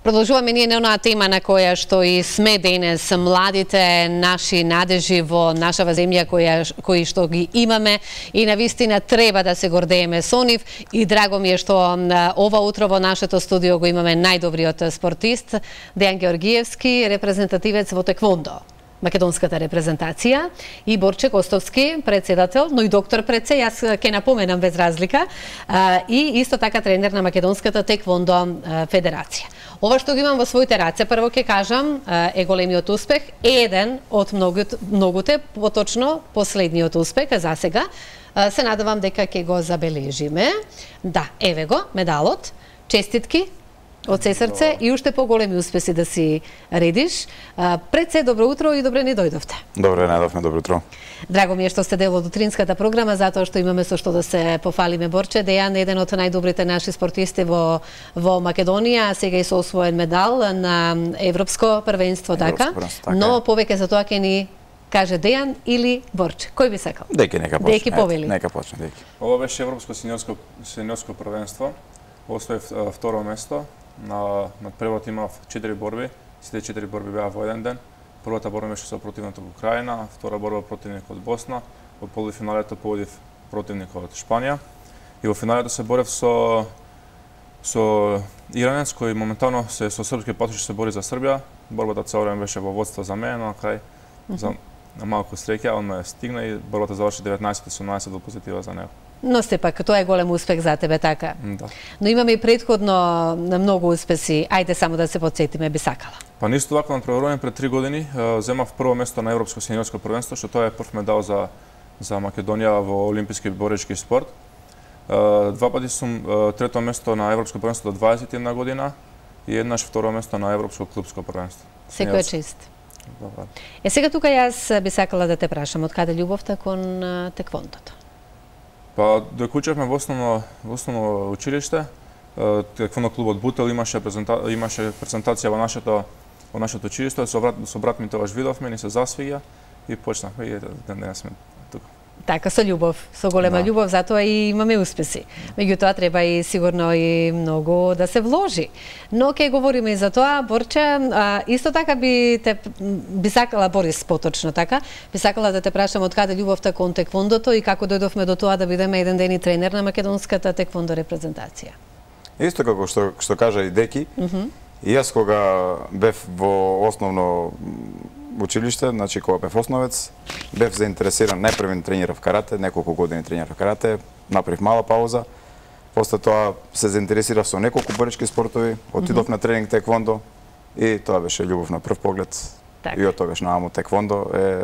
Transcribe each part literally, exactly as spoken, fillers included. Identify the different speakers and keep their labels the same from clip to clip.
Speaker 1: Продолжуваме ние на онаа тема на која што и сме денес, младите наши надежи во нашава земја која кои што ги имаме и навистина треба да се гордееме со нив и драго ми е што ова утро во нашето студио го имаме најдобриот спортист Дејан Георгиевски, репрезентативец во теквондо. Македонската репрезентација и Борче Костовски, председател, но и доктор Преце, јас ќе напоменам без разлика, и исто така тренер на Македонската теквондо федерација. Ова што го имам во своите раце, прво ќе кажам, е големиот успех, еден од многуте, многуте, поточно последниот успех за сега. Се надевам дека ќе го забележиме. Да, еве го, медалот. Честитки од се срце и уште поголеми успеси да си редиш. Пред се, добро утро и добре ни дојдовте.
Speaker 2: Добре, најдовме, добро утро.
Speaker 1: Драго ми е што сте дел од утринската програма, затоа што имаме со што да се пофалиме. Борче, Дејан е еден од најдобрите наши спортисти во, во Македонија, сега и со освоен медал на Европско првенство, така?
Speaker 2: така
Speaker 1: Но повеќе за тоа ќе ни каже Дејан или Борче. Кој би сакал?
Speaker 2: Дејки нека почне.
Speaker 1: Дејки повели.
Speaker 2: Нека почне, Дејки.
Speaker 3: Ова беше Европско сениорско, сениорско првенство. Освоив второ место. На, на првот имав четири борби, сите четири борби беа во еден ден. Првата борба беше со противникот од Украина, втора борба противникот од Босна, во полуфиналето победив противникот од Шпанија и во финалето се борев со со иранец кој моментално се со српски патош се бори за Србија. Борбата цел време беше во водство за мене, но на крај mm -hmm. за на малку среќа он ме стигна и борбата заврши деветнаесет осумнаесет во позитива за него.
Speaker 1: Но сепак, тоа е голем успех за тебе, така?
Speaker 3: Да.
Speaker 1: Но имаме и предходно на многу успеси. Ајде само да се потсетиме, би сакала.
Speaker 3: Па нисто вака на преварување пред три години земав прво место на Европско сениорско првенство, што тоа е прв медал за за Македонија во олимписки боречки спорт. Два пати сум трето место на Европско првенство до дваесет и една година и еднаш второ место на Европско клубско првенство.
Speaker 1: Секоја чест.
Speaker 3: Добре.
Speaker 1: Е сега тука јас би сакала да те прашам, од каде љубовта кон теквондото?
Speaker 3: Па докучевме во основно во основно училиште, теквондо клубот Бутел имаше презента, имаше презентација во нашето во нашето училиште, со брат со брат ми тогаш видовме, ни се засвиѓа и почнавме и ден денес сме тука. Така,
Speaker 1: со љубов, со голема
Speaker 3: да.
Speaker 1: љубов, затоа и имаме успеси. Меѓутоа треба и сигурно и многу да се вложи. Но ќе говориме и за тоа, Борче, а, исто така би те би сакала Борис поточно така, би сакала да те прашам од каде љубовта кон теквондото и како дојдовме до тоа да бидеме еден ден и тренер на Македонската теквондо репрезентација.
Speaker 2: Исто како што што кажа и Деки, mm -hmm. и јас кога бев во основно училиште, значи кога бев основец, бев заинтересиран, најпрви тренирав карате, неколку години тренирав карате, направив мала пауза. После тоа се заинтересирав со неколку боречки спортови, отидов mm -hmm. на тренинг теквондо и тоа беше љубов на прв поглед. Так. И од тогаш нааму теквондо е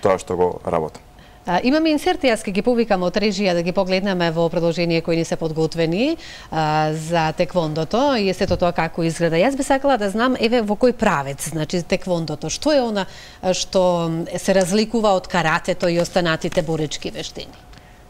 Speaker 2: тоа што го работам.
Speaker 1: А, имаме инсерти, јас ќе ги повикам од режија да ги погледнеме во продолжение кои ни се подготвени а, за теквондото и сето тоа како изгледа. Јас би сакала да знам еве во кој правец, значи теквондото, што е она што се разликува од каратето и останатите боречки вештини?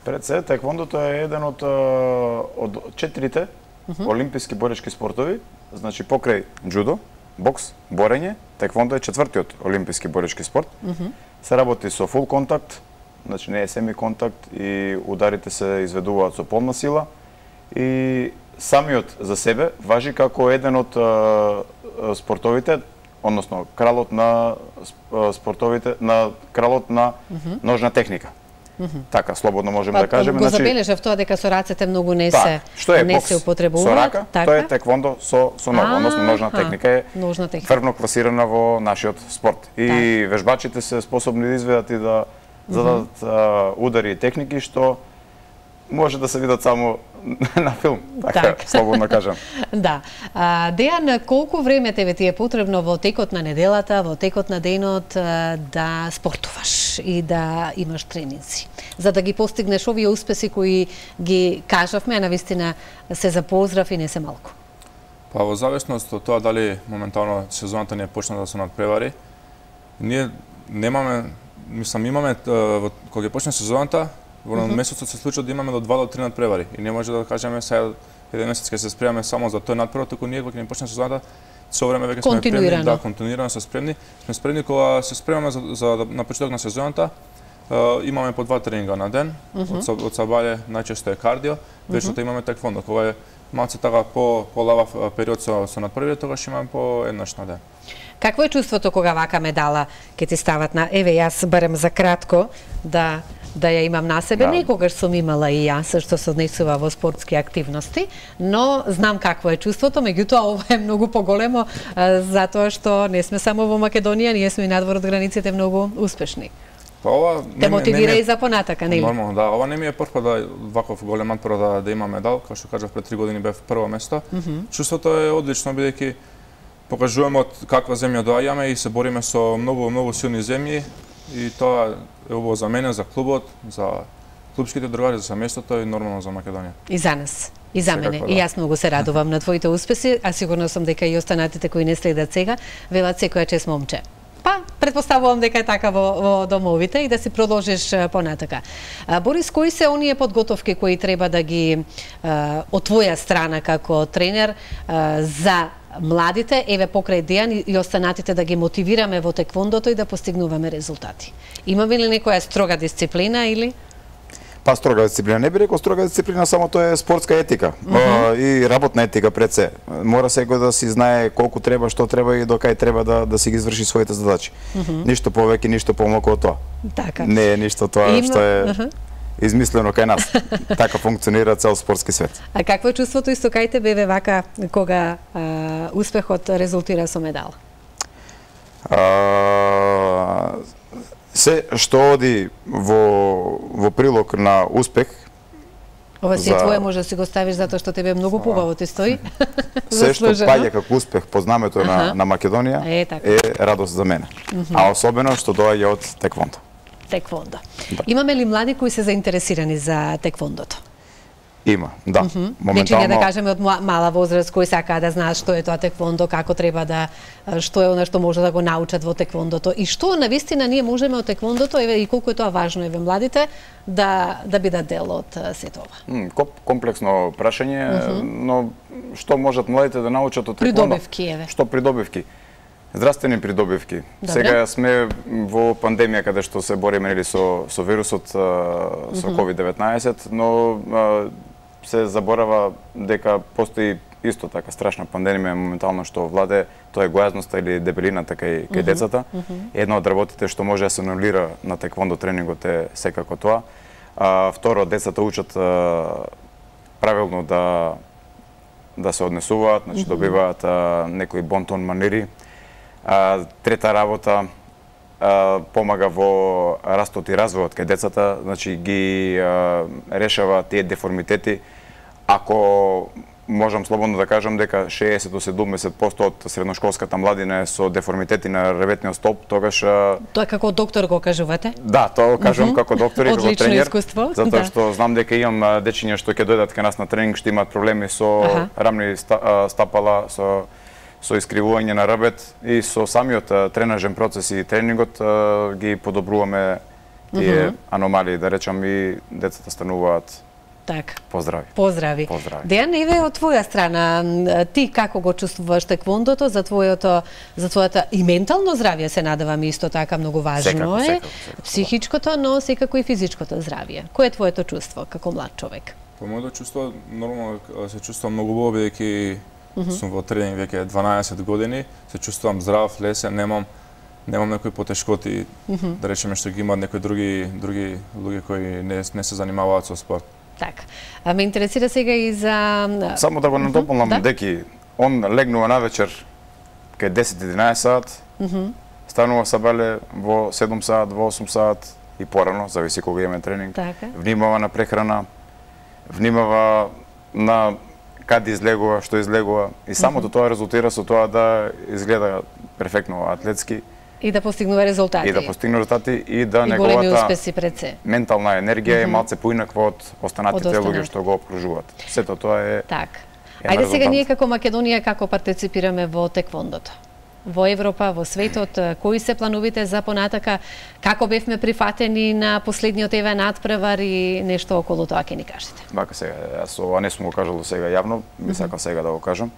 Speaker 2: Пред се, теквондото е еден од од четирите uh -huh. олимписки боречки спортови, значи покрај џудо, бокс, борење, теквондо е четвртиот олимписки боречки спорт. Uh -huh. Се работи со фул контакт, значи не е семи контакт и ударите се изведуваат со полна сила и самиот за себе важи како еден од а, спортовите, односно кралот на спортовите, на кралот на uh -huh. ножна техника. Uh -huh. Така, слободно можеме
Speaker 1: па,
Speaker 2: да кажеме.
Speaker 1: Го забележав тоа дека со рацете многу не се
Speaker 2: што е
Speaker 1: не
Speaker 2: бокс
Speaker 1: се употребуваат.
Speaker 2: Со рака,
Speaker 1: така?
Speaker 2: Тоа е теквондо со со нога, односно ножна техника е
Speaker 1: ножна техника.
Speaker 2: тврдно класирана во нашиот спорт. И так. Вежбачите се способни да изведат и да зададат uh -huh. удари и техники што може да се видат само на филм, така, так. Слободно кажам.
Speaker 1: Да. А, Дејан, колку време тебе ти е потребно во текот на неделата, во текот на денот да спортуваш и да имаш тренинзи, за да ги постигнеш овие успеси кои ги кажавме, а навистина се за поздрав и не се малку?
Speaker 3: Па во зависност од тоа дали моментално сезоната не е почна да се надпревари, ние немаме, мислам, имаме кога ќе почне сезоната, во mm -hmm. месецот се случува да имаме до два до три надпревари и не може да кажеме сега еден месец ќе се спремаме само за тој надпревар, туку ние кога ќе почне сезоната со време веќе сме спремни, да, континуирано се спремни. Сме спремни кога се спремаме за, за на почеток на сезоната, uh, имаме по два тренинга на ден, mm -hmm. од, од сабаје најчесто е кардио, вечерта mm -hmm. имаме теквондо, кога е малце така по полавав период со со надпреварите, тогаш имаме по еднаш на ден.
Speaker 1: Какво е чувството кога вака медала ќе ти стават на еве јас барем за кратко да да ја имам на себе,
Speaker 2: Да.
Speaker 1: некогаш сум имала и јас што се однесува во спортски активности, но знам какво е чувството, меѓутоа ова е многу поголемо а, затоа што не сме само во Македонија, ние сме и надвор од границите многу успешни.
Speaker 3: Па ова
Speaker 1: Те мотивира
Speaker 3: ми е-
Speaker 1: и за понатака, нели?
Speaker 3: Нормално, да. Ова не ми е прв пат да ваков голем надпор да, да има медал, како што кажав пред три години бев прво место. Mm -hmm. Чувството е одлично бидејќи покажуваме од каква земја доаѓаме и се бориме со многу многу силни земји и тоа е убаво за мене, за клубот, за клубските другари, за семејството и нормално за Македонија.
Speaker 1: И за нас. И за мене.
Speaker 3: Секако, да.
Speaker 1: И јас многу се радувам на твоите успеси, а сигурно сум дека и останатите кои не следат сега, велат секоја чест момче. Па, предпоставувам дека е така во, во домовите и да си продолжиш а, понатака. А, Борис, кои се оние подготовки кои треба да ги а, од твоја страна како тренер а, за младите, еве покрај Дејан и, и останатите да ги мотивираме во теквондото и да постигнуваме резултати? Имаме ли некоја строга дисциплина или?
Speaker 2: Па строга дисциплина, не би рекол строга дисциплина, само тоа е спортска етика mm -hmm. и работна етика пред се. Мора секој да си знае колку треба, што треба и до кај треба да да си ги изврши своите задачи. Mm -hmm. Ништо повеќе, ништо помалку од тоа.
Speaker 1: Така.
Speaker 2: Не е ништо тоа
Speaker 1: Има...
Speaker 2: што е
Speaker 1: uh -huh.
Speaker 2: измислено кај нас. Така функционира цел спортски свет.
Speaker 1: А какво е чувството исто кај тебе бе вака кога а, успехот резултира со медал?
Speaker 2: А, се што оди во во прилог на успех.
Speaker 1: Ова си
Speaker 2: за...
Speaker 1: твое може да си го ставиш затоа што тебе многу побаво ти стои.
Speaker 2: Се што паѓа како успех по знамето
Speaker 1: Аха.
Speaker 2: на на Македонија
Speaker 1: е, така.
Speaker 2: е радост за мене. Mm -hmm. А особено што доаѓа од теквондо.
Speaker 1: Теквондо.
Speaker 2: Да.
Speaker 1: Имаме ли млади кои се заинтересирани за теквондото?
Speaker 2: Има, да. Mm -hmm.
Speaker 1: Моментално... Веќе да кажеме од мала возраст кои сакаат да знаат што е тоа теквондо, како треба да што е она што може да го научат во теквондото и што навистина ние можеме од теквондото, еве и колку е тоа важно еве младите да да бидат дел од сето ова.
Speaker 2: Mm, комплексно прашање, mm -hmm. но што можат младите да научат од теквондо?
Speaker 1: Придобивки, еве.
Speaker 2: Што придобивки? Здравствени придобивки.
Speaker 1: Добре.
Speaker 2: Сега сме во пандемија каде што се бориме нели со со вирусот со mm -hmm. ковид деветнаесет, но а, се заборава дека постои исто така страшна пандемија моментално што владе, тоа е гојазноста или дебелината кај кај mm -hmm. децата. Mm -hmm. Едно од работите што може да се анулира на теквондо тренингот е секако тоа. А, второ, децата учат а, правилно да да се однесуваат, значи mm -hmm. добиваат а, некои бонтон манири. А, трета работа а, помага во растот и развојот кај децата, значи ги а, решава тие деформитети. Ако можам слободно да кажам дека шеесет до седумдесет проценти од средношколската младина е со деформитети на реветниот столб, тогаш а...
Speaker 1: Тоа како доктор го кажувате?
Speaker 2: Да, тоа го кажувам mm -hmm. како доктор и како
Speaker 1: Одлично
Speaker 2: тренер.
Speaker 1: искуство.
Speaker 2: Затоа
Speaker 1: да.
Speaker 2: што знам дека имам дечиња што ќе дојдат кај нас на тренинг, што имаат проблеми со
Speaker 1: Аха.
Speaker 2: рамни стапала, со со искривување на рабет и со самиот тренажен процес и тренингот ги подобруваме тие mm -hmm. аномалии, да речам, и децата стануваат
Speaker 1: така.
Speaker 2: Поздрави.
Speaker 1: Поздрави.
Speaker 2: Поздрави.
Speaker 1: Дејан, еве од твоја страна, ти како го чувствуваш теквондото за твоето за твоето и ментално здравје, се надевам исто така многу важно
Speaker 2: секако,
Speaker 1: е.
Speaker 2: секако, секако,
Speaker 1: психичкото, но секако и физичкото здравје. Кој е твоето чувство како млад човек?
Speaker 3: По моето чувство нормално се чувствувам многу убаво бидејќи mm -hmm. сум во тренинг веќе дванаесет години, се чувствувам здрав, лесен, немам немам некои потешкоти, mm -hmm. да речеме што ги имаат некои други други луѓе кои не не се занимаваат со спорт.
Speaker 1: Така. А ме интересира сега и за
Speaker 2: Само да го надополнам,
Speaker 1: да?
Speaker 2: деки он легнува навечер кај десет единаесет саат, mm -hmm. станува сабеле во седум саат, во осум саат и порано, зависи кога имаме тренинг.
Speaker 1: Така.
Speaker 2: Внимава на прехрана, внимава на каде излегува, што излегува и самото mm -hmm. тоа резултира со тоа да изгледа перфектно атлетски
Speaker 1: и да постигнува резултати.
Speaker 2: И да постигне резултати и да
Speaker 1: и
Speaker 2: неговата
Speaker 1: големи успеси пред се.
Speaker 2: Ментална енергија mm -hmm. е малце поинаква од останатите
Speaker 1: од
Speaker 2: луѓе што го окружуваат. Сето тоа е
Speaker 1: така.
Speaker 2: Е
Speaker 1: Ајде сега
Speaker 2: резултат.
Speaker 1: ние како Македонија како партиципираме во теквондото? Во Европа, во светот, кои се плановите за понатака, како бевме прифатени на последниот еве надпревар и нешто околу тоа ќе ни кажете.
Speaker 2: Вака сега, јас ова не сум го кажал до сега јавно, би сакал сега да го кажам.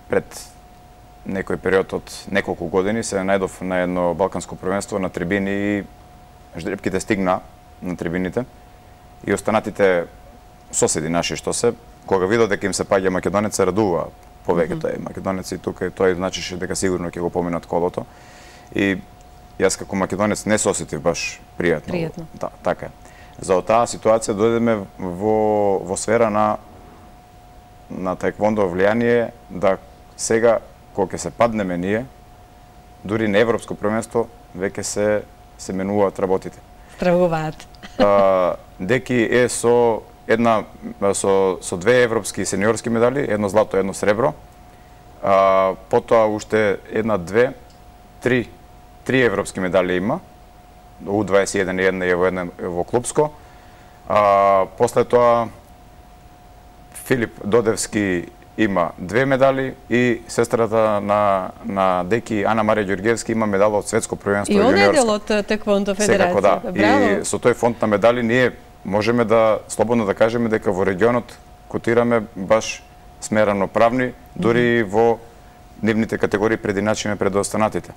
Speaker 2: Пред некој период од неколку години се најдов на едно балканско првенство на трибини и ждрепките стигна на трибините и останатите соседи наши што се кога видов дека им се паѓа македонец, се радува повеќето е македонеци тука и тој значише дека сигурно ќе го поминат колото. И јас како македонец не се осетив баш пријатно.
Speaker 1: Пријатно.
Speaker 2: Да, така е. За таа ситуација дојдеме во во сфера на на таеквондо влијание да сега кога ќе се паднеме ние, дури на европско првенство веќе се се менуваат работите.
Speaker 1: Стравуваат.
Speaker 2: А, Деки е со една со со две европски сениорски медали, едно злато, едно сребро. А, потоа уште една, две, три, три европски медали има. У дваесет и еден и една е во една во клубско. А, после тоа Филип Додевски има две медали и сестрата на на Деки Ана Марија Ѓорѓевски има медала од светско првенство
Speaker 1: и
Speaker 2: јуниорско.
Speaker 1: И он е дел од таеквондо федерација.
Speaker 2: Секако да.
Speaker 1: Браво.
Speaker 2: И со тој фонд на медали ние можеме да слободно да кажеме дека во регионот котираме баш смерено правни, дури во нивните категории прединачиме пред останатите.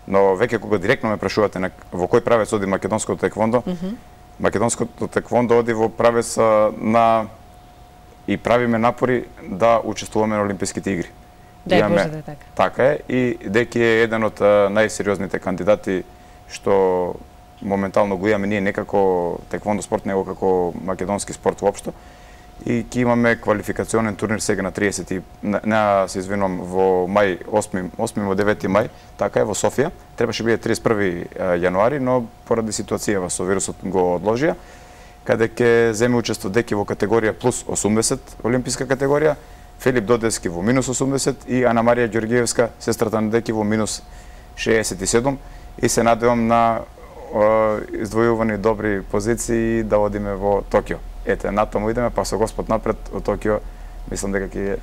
Speaker 2: Но веќе кога директно ме прашувате на во кој правец оди македонското таеквондо, mm -hmm. македонското таеквондо оди во правец на и правиме напори да учествуваме на Олимписките игри.
Speaker 1: Дај Боже да така.
Speaker 2: Така е и Деки е еден од најсериозните кандидати што моментално го имаме ние не како таеквондо спорт, него како македонски спорт воопшто. И ќе имаме квалификационен турнир сега на триесети, не се извинувам, во мај, осми до девети мај, така е, во Софија. Требаше биде триесет и први јануари, но поради ситуацијава со вирусот го одложија, каде ќе земе учество Деки во категорија плюс осумдесет, олимписка категорија, Филип Додевски во минус осумдесет и Ана Марија Ѓорѓевска, сестрата на Деки, во минус шеесет и седум. И се надевам на издвојувани добри позиции да одиме во Токио. Ете, натаму идеме, па со Господ напред од Токио, мислам дека ќе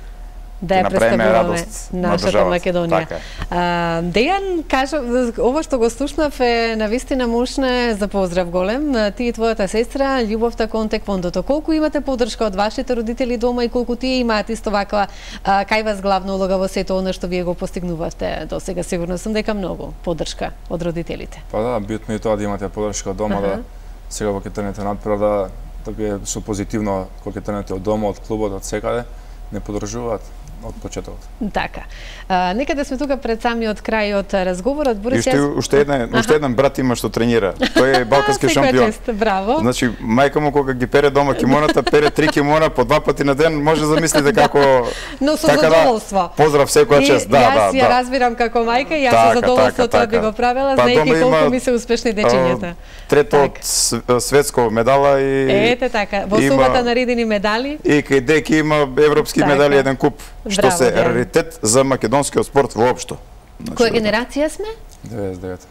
Speaker 1: да ја представуваме нашата Македонија.
Speaker 2: Така.
Speaker 1: А, Дејан, кажа, ова што го слушнав е навистина мощна, за поздрав голем. Ти и твојата сестра, љубовта кон таеквондото. Колку имате поддршка од вашите родители дома и колку тие имаат исто ваква а, кај вас главна улога во сето она што вие го постигнувавте до сега? Сигурно сум дека многу поддршка од родителите.
Speaker 3: Па да, битно и тоа да имате поддршка од дома, uh -huh. да сега во кетенете надпред да да биде со позитивно кога кетенете од дома, од клубот, од секаде, не поддржуваат од почетокот.
Speaker 1: Така. А, некаде сме тука пред самиот крај од разговорот.
Speaker 2: Борис, и уште, јас... уште, една, уште еден брат има што тренира. Тој е балкански шампион.
Speaker 1: Чест, браво.
Speaker 2: Значи, мајка му кога ги пере дома кимоната, пере три кимона по два пати на ден, може да замислите како...
Speaker 1: Но со
Speaker 2: така
Speaker 1: задоволство.
Speaker 2: Да, поздрав секоја чест. Да,
Speaker 1: јас
Speaker 2: да,
Speaker 1: ја
Speaker 2: да.
Speaker 1: разбирам како мајка и јас
Speaker 2: така,
Speaker 1: со задоволство
Speaker 2: така,
Speaker 1: тоа би
Speaker 2: така.
Speaker 1: го правела,
Speaker 2: па,
Speaker 1: знаејќи колку
Speaker 2: има,
Speaker 1: ми се успешни дечињата.
Speaker 2: Трето од светско медала и...
Speaker 1: Ете така, во сумата наредени медали.
Speaker 2: И кај Деки има европски така. медали, еден куп, што Браво, се раритет за македонскиот спорт воопшто.
Speaker 1: Значи, која генерација сме?
Speaker 3: деветдесет и девета.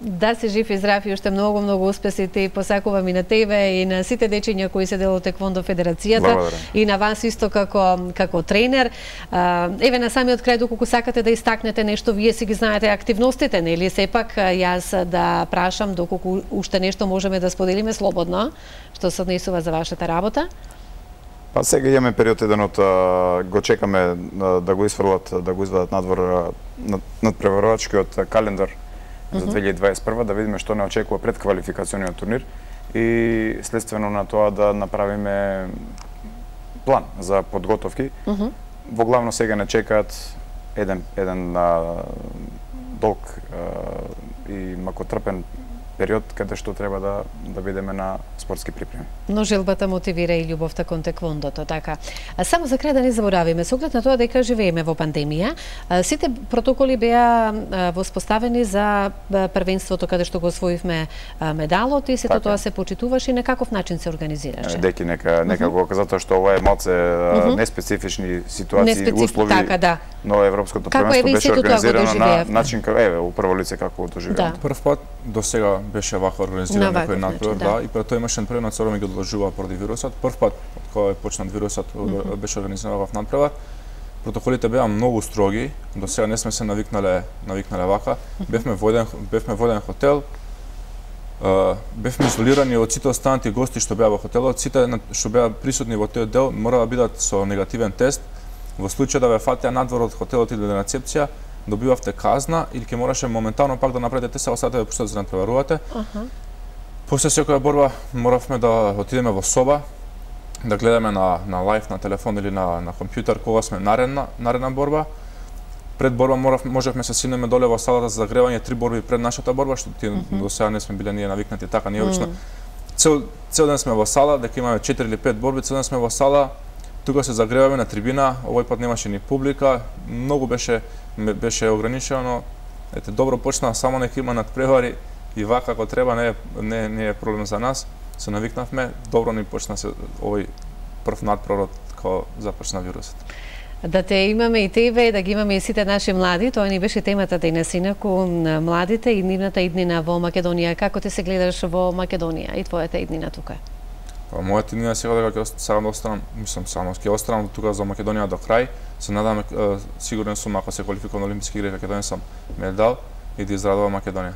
Speaker 1: Да се жив и здрав и уште многу, многу успеси ти посакувам и на тебе и на сите дечиња кои се дел од таеквондо федерацијата.
Speaker 2: Благодарам.
Speaker 1: И на вас исто како како тренер. Еве на самиот крај, доколку сакате да истакнете нешто, вие си ги знаете активностите, нели? Сепак јас да прашам доколку уште нешто можеме да споделиме слободно, што се однесува за вашата работа.
Speaker 2: Па сега имаме период еден од го чекаме да го исфрлат, да го извадат надвор над преварувачкиот календар за две илјади дваесет и прва, да видиме што не очекува пред квалификациониот турнир и следствено на тоа да направиме план за подготовки. Uh -huh. Во главно сега не чекаат еден еден а, долг а, и макотрпен период каде што треба да да бидеме на спортски припреми.
Speaker 1: Но желбата мотивира и љубовта кон таеквондото, така. А само за крај да не заборавиме, со оглед на тоа дека живееме во пандемија, сите протоколи беа воспоставени за првенството каде што го освоивме медалот и сето така. Тоа се почитуваше и на каков начин се организираше.
Speaker 2: Деки нека нека uh -huh. го затоа што ова е малце uh -huh. неспецифични ситуации,
Speaker 1: Неспециф...
Speaker 2: услови.
Speaker 1: Така, да.
Speaker 2: Но европското првенство беше организирано на начин како еве, у прво лице како го доживеа.
Speaker 3: Да. Прв пат до сега беше вака организиран некој надпревар, да. да, и пред тоа имаше првен надпревар ги одложува поради вирусот. Прв пат кога почна вирусот mm -hmm. беше организиран во надпревар. Протоколите беа многу строги, до сега не сме се навикнале навикнале вака. Mm -hmm. Бевме во еден бевме во еден хотел. Uh, бевме изолирани од сите останати гости што беа во хотелот, сите што беа присутни во тој дел мора да бидат со негативен тест. Во случај да ве фатеа надвор од хотелот или на рецепција, добивавте казна или ќе мораше моментално пак да направите тест, а остате да пуштат за да натпреварувате. Uh -huh. После секоја борба моравме да отидеме во соба, да гледаме на на лајв на телефон или на на компјутер кога сме наредна наредна борба. Пред борба морав можевме се синеме доле во салата за загревање три борби пред нашата борба, што ти mm -hmm. до сега не сме биле ние навикнати така, ние обично mm -hmm. цел цел ден сме во сала, дека имаме четири или пет борби, цел ден сме во сала, тука се загреваме на трибина, овој пат немаше ни публика, многу беше беше ограничено. Ете, добро почна, само нека има надпревари и вака како треба, не е, не, не е проблем за нас. Се навикнавме, добро ни почна се овој прв надпревар кога започна вирусот.
Speaker 1: Да те имаме и тебе, да ги имаме и сите наши млади, тоа ни беше темата денес, инаку младите и нивната иднина во Македонија. Како ти се гледаш во Македонија и твојата иднина тука?
Speaker 3: Па, мојата иднина сега дека ќе сакам да останам, мислам само ќе останам тука за Македонија до крај. Се надам, сигурен сум ако се квалификувам на Олимписки игри, ќе донесам медал и да израдувам Македонија.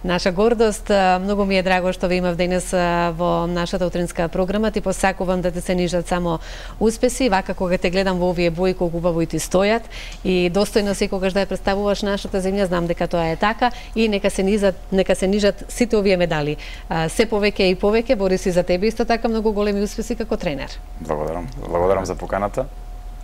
Speaker 1: Наша гордост, многу ми е драго што ви имав денес во нашата утринска програма. Ти посакувам да те се нижат само успеси, вака кога те гледам во овие бои колку убаво и ти стојат и достојно секогаш да ја представуваш нашата земја, знам дека тоа е така и нека се нижат, нека се нижат сите овие медали. Се повеќе и повеќе, бори си за тебе исто така многу големи успеси како тренер.
Speaker 2: Благодарам. Благодарам за поканата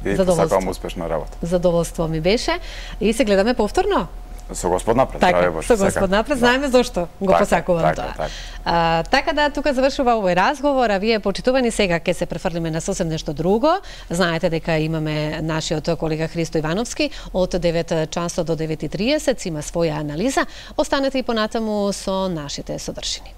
Speaker 2: и посакувам успешна работа.
Speaker 1: Задоволство ми беше и се гледаме повторно.
Speaker 2: Со Господ напред,
Speaker 1: така,
Speaker 2: здраве Боже.
Speaker 1: Со Господ напред, знаеме зошто го
Speaker 2: така,
Speaker 1: посакувам
Speaker 2: така,
Speaker 1: тоа.
Speaker 2: Така.
Speaker 1: А, така да, тука завршува овој разговор, а вие почитувани сега ќе се префрлиме на сосем нешто друго. Знаете дека имаме нашиот колега Христо Ивановски од девет часот до девет и триесет, има своја анализа. Останете и понатаму со нашите содржини.